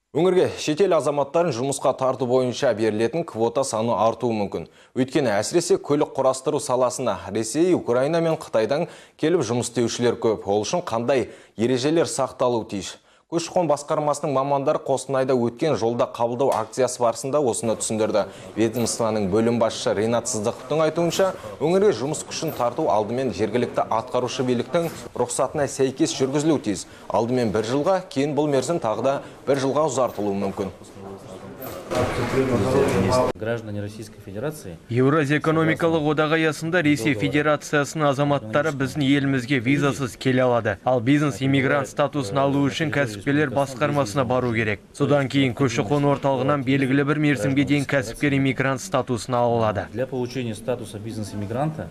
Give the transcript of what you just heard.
Өңірге шетел азаматтарын жұмысқа тарту бойынша берілетін квота саны артуы мүмкін. Өйткені әсіресе көлік құрастыру саласына Ресей, Украина мен Қытайдан келіп жұмыс істеушілер көп. Ол үшін қандай ережелер сақталуы тиіс? Көші-қон басқармасының мамандары Қостанайда өткен жолда қабылдау акциясы барысында осыны түсіндірді. Ведомствоның бөлім басшысы Ринат Сыздықовтың айтуынша, өңірге жұмыс күшін тарту алдымен жергілікті атқарушы биліктің рұқсатына сәйкес жүргізілуі тиіс. Алдымен 1 жылға, кейін бұл мерзім тағы да 1 жылға ұзартылуы мүмкін. Граждане Российской Федерации. Еуразия экономикалық одағы аясында Ресей Федерациясының азаматтары біздің елімізге визасыз келе алады. Ал бизнес-иммигрант статусын алу үшін кәсіпкерлер басқармасына бару керек. Содан кейін көші-қон орталығынан белгілі бір мерзімге дейін кәсіпкер иммигрант статусын ала алады. Для получения статуса бизнес-иммигранта